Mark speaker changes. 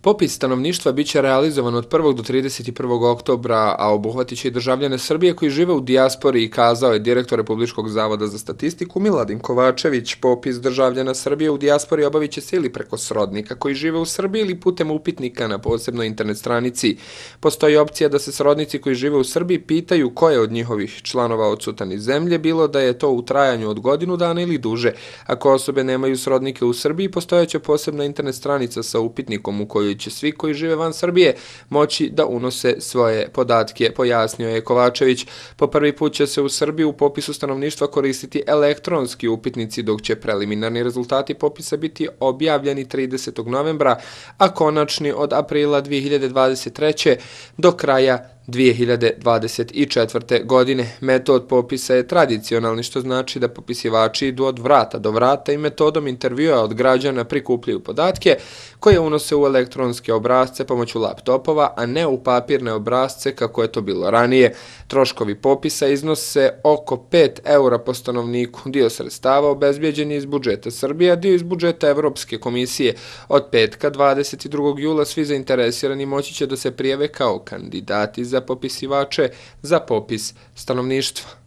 Speaker 1: Popis stanovništva biće realizovan od 1. do 31. oktobra, a obuhvatit će i državljane Srbije koji žive u dijaspori, kazao je direktor Republičkog zavoda za statistiku Miladin Kovačević. Popis državljana Srbije u dijaspori obavit će se ili preko srodnika koji žive u Srbiji ili putem upitnika na posebnoj internet stranici. Postoji opcija da se srodnici koji žive u Srbiji pitaju ko je od njihovih članova odsutan iz zemlje, bilo da je to u trajanju od godinu dana ili duže. Ako osobe nemaju srodnike u Srbiji, postojaće posebna internet stranica sa upitnikom u kojoj će svi koji žive van Srbije moći da unose svoje podatke, pojasnio je Kovačević. Po prvi put će se u Srbiji u popisu stanovništva koristiti elektronski upitnici, dok će preliminarni rezultati popisa biti objavljeni 30. novembra, a konačni od aprila 2023. do kraja 2024. godine. Metod popisa je tradicionalni, što znači da popisivači idu od vrata do vrata i metodom intervjua od građana prikupljaju podatke koje unose u elektronske obrasce pomoću laptopova, a ne u papirne obrasce kako je to bilo ranije. Troškovi popisa iznose oko 5 € po stanovniku. Dio sredstava obezbijeđen je iz budžeta Srbije, a dio iz budžeta Evropske komisije. Od petka 22. jula svi zainteresirani moći će da se prijave kao kandidati za popisivače za popis stanovništva.